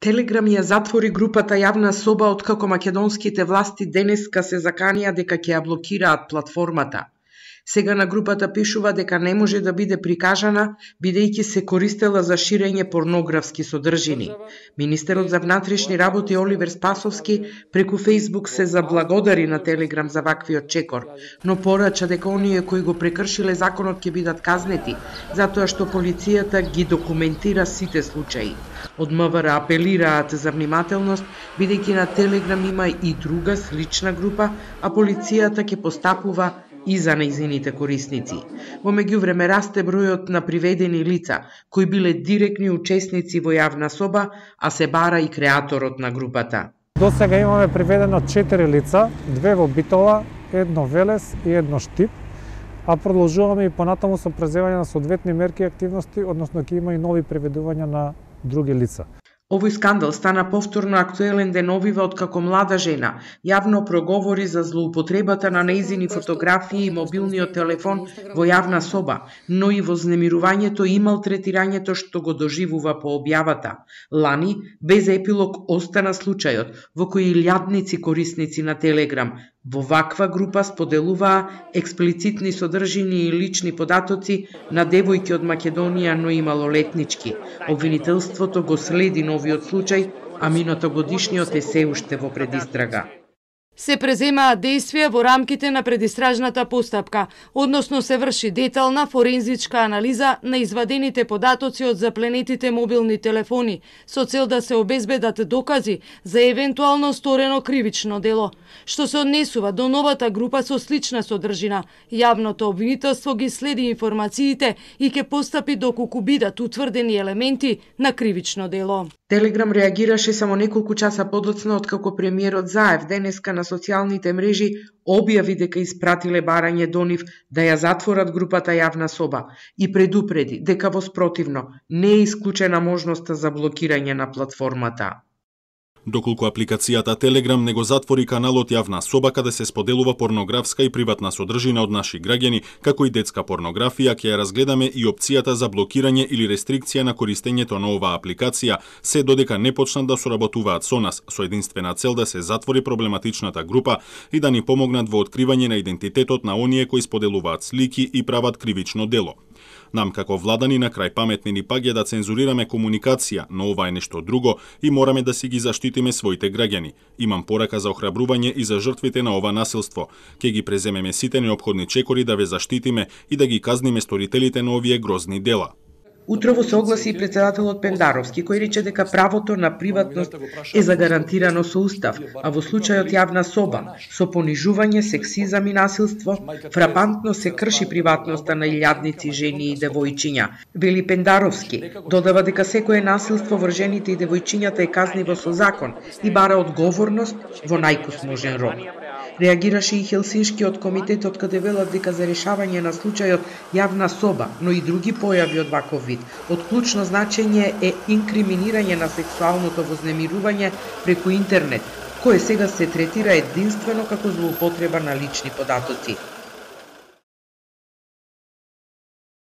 Телеграм ја затвори групата Јавна соба откако македонските власти денеска се заканија дека ќе ја блокираат платформата. Сега на групата пишува дека не може да биде прикажана, бидејќи се користела за ширење порнографски содржини. Министерот за внатрешни работи Оливер Спасовски преку Фејсбук се заблагодари на Телеграм за ваквиот чекор, но порача дека оние кои го прекршиле законот ќе бидат казнети, затоа што полицијата ги документира сите случаи. Од МВР апелираат за внимателност, бидејќи на Телеграм има и друга слична група, а полицијата ќе постапува и за нејзините корисници. Во меѓувреме расте бројот на приведени лица, кои биле директни учесници во Јавна соба, а се бара и креаторот на групата. До сега имаме приведено 4 лица, 2 во Битола, 1 Велес и 1 Штип, а продолжуваме и понатаму со преземање на соодветни мерки и активности, односно ќе има и нови приведувања на други лица. Овој скандал стана повторно актуелен деновива откако млада жена јавно проговори за злоупотребата на нејзини фотографии и мобилниот телефон во Јавна соба, но и вознемирувањето и малтретирањето што го доживува по објавата. Лани, без епилог, остана случајот во кој илјадници корисници на Телеграм во ваква група споделуваа експлицитни содржини и лични податоци на девојки од Македонија, но и малолетнички. Обвинителството го следи новиот случај, а минатогодишниот е се уште во предистрага. Се преземаат действија во рамките на предистражната постапка, односно се врши детална форензичка анализа на извадените податоци од запленетите мобилни телефони, со цел да се обезбедат докази за евентуално сторено кривично дело. Што се однесува до новата група со слична содржина, јавното обвинителство ги следи информациите и ќе постапи доколку бидат утврдени елементи на кривично дело. Телеграм реагираше само неколку часа подоцна откако премиерот Заев денеска на социјалните мрежи објави дека испратиле барање до нив да ја затворат групата Јавна соба и предупреди дека во спротивно не е исклучена можноста за блокирање на платформата. Доколку апликацијата Телеграм не го затвори каналот Јавна соба каде се споделува порнографска и приватна содржина од наши граѓани, како и детска порнографија, ќе ја разгледаме и опцијата за блокирање или рестрикција на користењето на оваа апликација, се додека не почнат да соработуваат со нас, со единствена цел да се затвори проблематичната група и да ни помогнат во откривање на идентитетот на оние кои споделуваат слики и прават кривично дело. Нам како владани на крај паметни ни пак е да цензурираме комуникација, но ова е нешто друго и мораме да си ги заштитиме своите граѓани. Имам порака за охрабрување и за жртвите на ова насилство. Ке ги преземеме сите неопходни чекори да ве заштитиме и да ги казниме сторителите на овие грозни дела. Утрово се огласи и председателот Пендаровски, кој рече дека правото на приватност е загарантирано со устав, а во случајот Јавна соба, со понижување, сексизам и насилство, фрапантно се крши приватноста на илјадници жени и девојчиња. Вели Пендаровски, додава дека секое насилство врз жените и девојчињата е казниво со закон и бара одговорност во најкусможен рок. Реагираше и Хелсиншкиот комитетот каде велат дека за решавање на случајот Јавна соба, но и други појави од ваков вид, од клучно значење е инкриминирање на сексуалното вознемирување преку интернет, кое сега се третира единствено како злоупотреба на лични податоци.